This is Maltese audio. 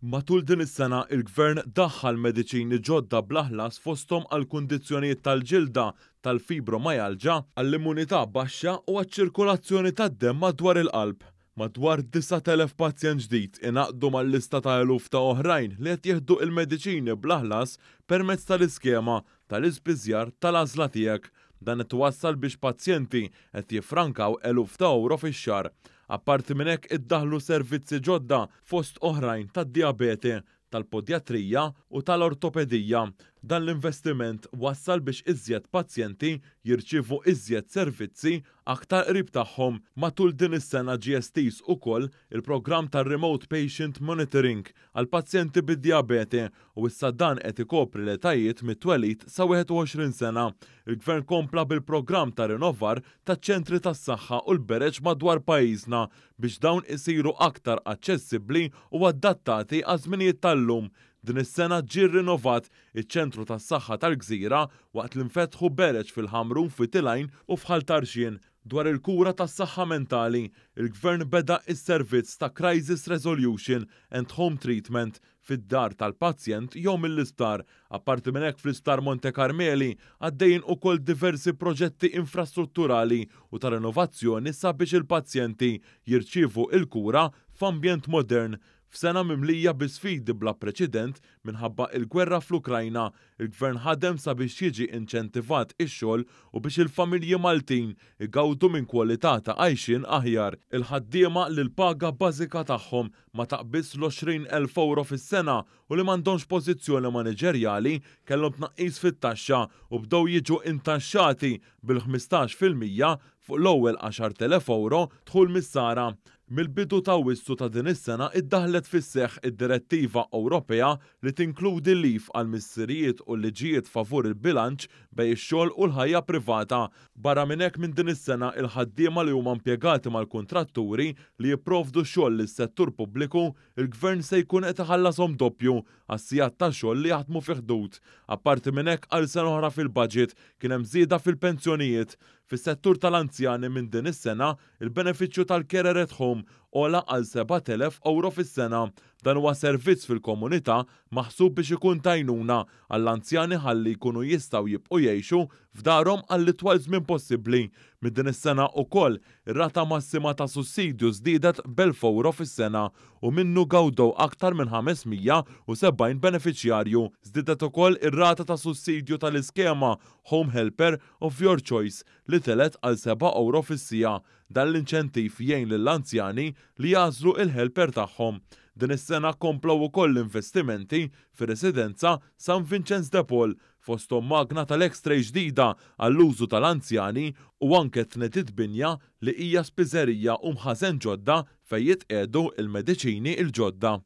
Matul din is-sena, il-Gvern daħħal mediċini ġodda bla ħlas fosthom għal kundizzjonijiet tal-ġilda, tal-fibromajalġa, għall-immunità baxxa u għaċ-ċirkolazzjoni tad-demm madwar il-qalb. Madwar 9,000 pazjent ġdid ingħaqdu mal-lista ta' eluf ta' oħrajn li qed jieħdu il-mediċini bla ħlas permezz tal-iskema tal-ispiżjar tal-għażla tiegħek. Dan qed iwassal biex pazjenti qed jiffrankaw eluf ta' ewro fix-xahar. Apparti minn hekk, iddaħħlu servizzi ġodda fost oħrajn tad-dijabete, tal-podjatrija u tal-ortopedija. Dan l-investiment wassal biex iżjed pazjenti jirċievu iżjed servizzi aktar qrib tagħhom. Matul din is-sena ġie estiż ukoll il-programm tar-Remote Patient Monitoring għal pazjenti bid-dijabete u issa dan qed ikopri l-etajiet mit-twelid sa 21 sena. Il-Gvern kompla bil-programm ta' rinnovar taċ-ċentri tas-saħħa u l-bereġ madwar pajjiżna biex dawn isiru aktar aċċessibbli u adattati għaż-żminijiet tal-lum. Din is-sena ġie rinnovat iċ-ċentru tas-saħħa tal-Gżira waqt li nfetħu bereġ fil-Ħamrun, f'Wied u f'Ħal Tarxien. Dwar il-kura tas-saħħa mentali, il-Gvern beda is-servizz ta' Crisis Resolution and Home Treatment fid-dar tal-pazjent jew mill-isptar. Apparti minn hekk, fl-Isptar Monte Carmeli għaddejjin ukoll diversi proġetti infrastrutturali u ta' rinnovazzjoni sabiex il-pazjenti jirċievu il-kura f'ambjent modern. F'sena mimlija bi sfidi bla preċedent minħabba il-gwerra fl-Ukrajna, il-Gvern ħadem sabiex jiġi inċentivat ix-xogħol u biex il-familji Maltin igawdu minn kwalità ta' għajxien aħjar. Il-ħaddiema li l-paga bażika tagħhom ma taqbiż l-20,000 euro fis-sena u li m'għandhomx pożizzjoni maniġerjali kellhom tnaqqis fit-taxxa u bdew jiġu intaxxati bil-15% fuq l-ewwel 10,000 euro dħul mis-sara. Mill-bidu ta' Awwissu ta' din is-sena iddaħlet fis-seħħ id-Direttiva Ewropea li tinkludi leave għal missirijiet u liġijiet favur il-bilanċ bejn ix-xogħol u l-ħajja privata. Barra minn hekk, minn din is-sena il-ħaddiema li huma impjegati mal-kontratturi li jipprovdu xogħol lis-settur pubbliku, il-Gvern se jkun qed iħallashom doppju għas-sigħat ta' xogħol li jaħdmu fi ħdud. Apparti minn hekk, għal sena oħra fil-budget kien hemm żieda fil-pensjonijiet. Fis-settur tal-anzjani, minn din is-sena il-benefiċċju tal-Carer at Home għola għal 7,000 euro fis-sena. Dan huwa servizz fil-komunità maħsub biex ikun t'għajnuna għall-anzjani ħalli jkunu jistgħu jibqgħu jgħixu f'darhom għall-itwal żmien possibbli. Minn din is-sena ukoll ir-rata massima ta' sussidju żdiedet b'1,000 euro fis-sena u minnu gawdew aktar minn 570 benefiċjarju. Żdiedet ukoll ir-rata ta' sussidju tal-iskema Home Helper of Your Choice li telgħet għal 7 euro fis-siegħa. Dan l-inċentiv jgħin lill-anzjani li jagħżlu il-helper tagħhom. Din is-sena komplow ukoll l-investimenti fir-residenza San Vincenz de Paul, fosthom magna tal-X-ray ġdida għall-użu tal-anzjani u anke tnediet binja li hija spiżerija u mħażen ġodda fejn jitqiegħdu il-mediċini il-ġodda.